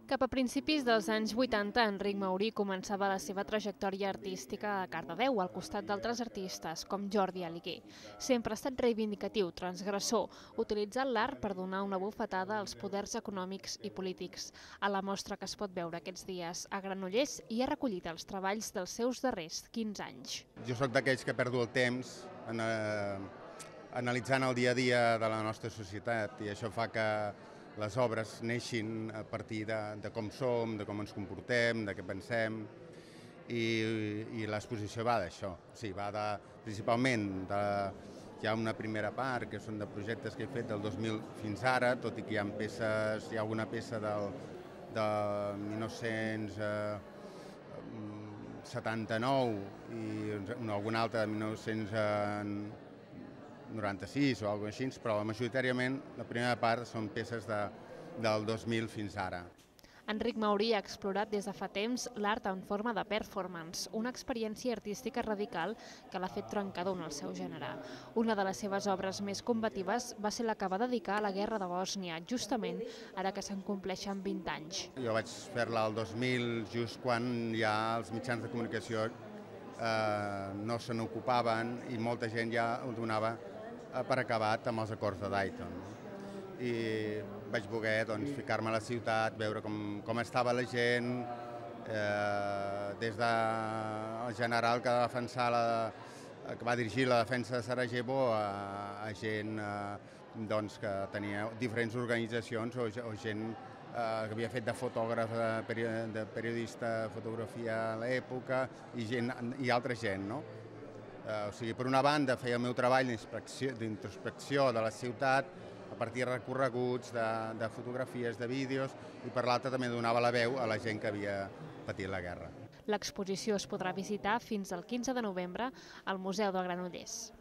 Cap a principis dels anys 80, Enric Maurí començava la seva trajectòria artística a Cardedeu, al costat d'altres artistes, com Jordi Aliguer. Sempre ha estat reivindicatiu, transgressor, utilitzant l'art per donar una bufetada als poders econòmics i polítics. A la mostra que es pot veure aquests dies a Granollers hi ha recollit els treballs dels seus darrers 15 anys. Jo sóc d'aquells que perdo el temps analitzant el dia a dia de la nostra societat i això fa que les obres neixin a partir de com som, de com ens comportem, de què pensem i l'exposició va d'això. Sí, va principalment hi ha una primera part que són de projectes que he fet del 2000 fins ara, tot i que hi ha peces, hi ha alguna peça del 1979 i alguna altra de 1996 o alguna cosa així, però majoritàriament la primera part són peces del 2000 fins ara. Enric Maurí ha explorat des de fa temps l'art en forma de performance, una experiència artística radical que l'ha fet trencador en el seu gènere. Una de les seves obres més combatives va ser la que va dedicar a la guerra de Bòsnia, justament ara que se'n compleixen 20 anys. Jo vaig fer-la el 2000, just quan ja els mitjans de comunicació no se n'ocupaven i molta gent ja ho donava per acabat amb els acords de Dayton. I vaig voler ficar-me a la ciutat, veure com estava la gent, des del general que va dirigir la defensa de Sarajevo a gent que tenia diferents organitzacions o gent que havia fet de fotògraf, de periodista de fotografia a l'època i altra gent, no? O sigui, per una banda feia el meu treball d'introspecció de la ciutat a partir de recorreguts, de fotografies, de vídeos, i per l'altra també donava la veu a la gent que havia patit la guerra. L'exposició es podrà visitar fins al 15 de novembre al Museu de Granollers.